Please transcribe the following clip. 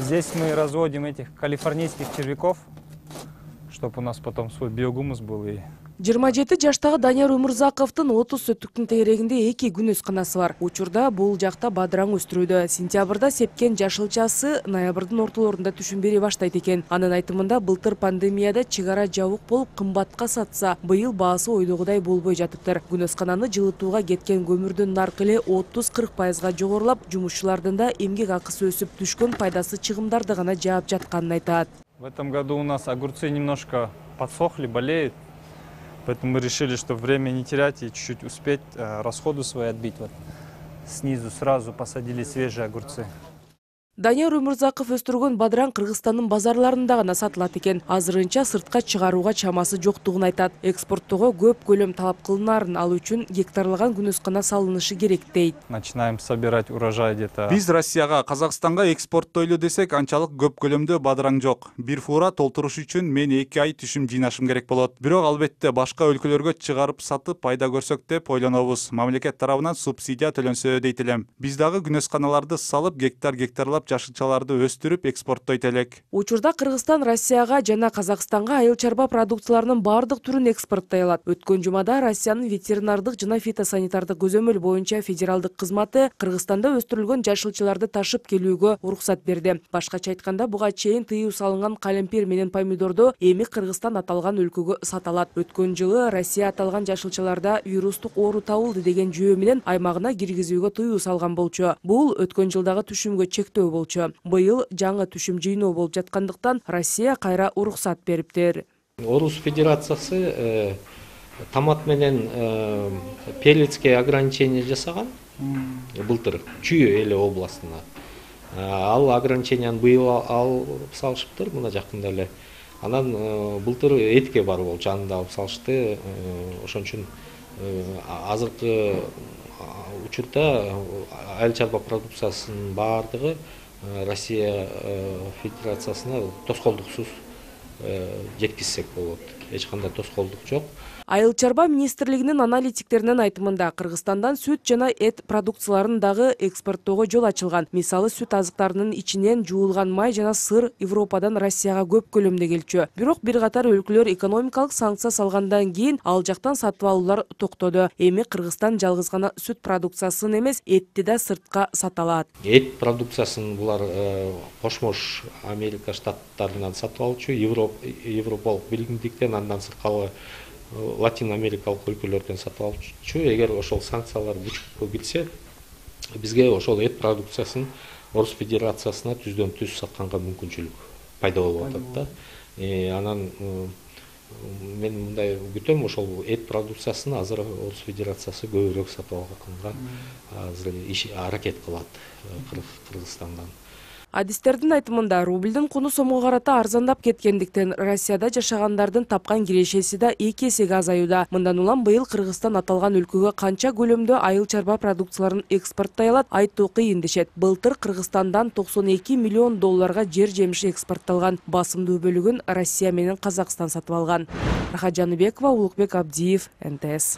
Здесь мы разводим этих калифорнийских червяков, чтобы у нас потом свой биогумус был. 27 жаштагы Данияр Өмүрзаковдун 30 сөттүктүн тегерегинде 2 күн өсканасы бар. Учурда бул жакта бадыраң өстүрүүдө. Сентябрда сепкен жашылчасы ноябрдын ортолорунда түшүн бере баштайт экен. Анын айтымында былтыр пандемияда чыгара жабык болуп кымбатка сатса, быйыл баасы ойдогудай болбой жатыптыр. Күн өскананы жылытууга кеткен көмүрдүн наркы эле 30-40% жогорулап, жумушчулардын да эмгек акысы өсүп, түшкөн пайдасы чыгымдарды гана жаап жатканын айтат. В этом году у нас огурцы немножко подсохли, болеют. Поэтому мы решили, что время не терять и чуть-чуть успеть расходы свои отбить. Вот снизу сразу посадили свежие огурцы. Данияр Өмүрзаков өстүргөн бадыраң Кыргызстандын базарларында гана сатылат экен. Азырынча сыртка чыгарууга чамасы жоктугун айтат. Экспорттоого көп көлөм талап кылынаарын, ал үчүн гектарлаган күн өскана салынышы керек дейт. Начинаем собирать урожай где-то. Биз Россияга, Казакстанга экспорттойлу десек, анчалык көп көлөмдө бадыраң жок. Бир фура толтуруш үчүн мен 2 ай түшүм жыйнашым керек болот. Бирок албетте башка өлкөлөргө чыгарып сатып пайда көрсөк деп ойлонобуз. Мамлекет тарабынан субсидия төлөнсө дейт элем. Биз дагы күн өсканаларды салып, гектарлап жашылчаларды өстүрүп экспорттойт элек. Учурда Кыргызстан Россияга жана Казакстанга айыл чарба продукцияларынын бардык түрүн экспорттой алат. Өткөн жумада Россиянын ветеринардык жана фитосанитардык көзөмөл боюнча федералдык кызматы Кыргызстанда өстүрүлгөн жашылчаларды ташып келүүгө уруксат берди. Башкача айтканда, буга чейин тыюу салынган калемпир менен помидорду эми Кыргызстан аталган өлкөгө саталат. Өткөн жылы Россия аталган жашылчаларда вирустук оору табылды деген жүйө менен аймагына киргизүүгө тыюу салган болчу. Бул өткөн жылдагы түшүмгө чектөө болчу. Быйыл жаңы түшүм жыйноо болуп жаткандыктан Россия кайра уруксат бериптир. Орус Федерациясы томат менен перецке ограничение жасаган былтыр Чүй эле областына. Ал ограниченияны быйыл алып салышыптыр мына жакында эле. Анан былтыр этке бар болчу, аны да алып салышты. Ошон үчүн азыркы учурда айыл чарба продукциясынын бардыгы Россия Федерациясына тоскоолдуксуз жеткизсек болот. Эч кандай тоскоолдук жок. Айыл чарба министрлигинин аналитиктеринин айтымында Кыргызстандан сүт жана эт продукцияларын дагы экспорттоого жол ачылган. Мисалы сүт азыктарынын ичинен жуулган май жана сыр Европадан Россияга көп көлөмдө келчү. Бирок бир катар өлкөлөр экономикалык санкция салгандан кийин ал жактан сатып алуулар токтоду. Эми Кыргызстан жалгыз гана сүт продукциясын эмес, этти да сыртка сата алат. Эт продукциясын булар Кошмош Америка штаттарынан сатып алчу, Европалык биримдиктен, андан сырткары Латин Америкалык өлкөлөрдөн сатып алчу. Эгер ошол санкциялар күчкө кирсе, бизге ошол эт продукциясын Орус Федерациясына түздөн түз сатканга мүмкүнчүлүк пайда болуп атат да. Анан мен мындай күтөм, ошол эт продукциясын азыр Орус Федерациясы көбүрөөк сатып алганга азыр аракет кылат Кыргызстандан. Адистердин айтымында рубльдин куну сомго карата арзандап кеткендиктен Россияда жашагандардын тапкан кирешеси да 2 эсеге азаюуда. Мындан улам быйыл Кыргызстан аталган өлкөгө канча көлөмдө айыл чарба продукцияларын экспорттой алат, айтуу кыйын дешет. Былтыр Кыргызстандан $92 миллион жер жемиш экспортталган. Басымдуу бөлүгүн Россия менен Казакстан сатып алган. Рахат Жаныбекова, Улукбек Абдиев, НТС.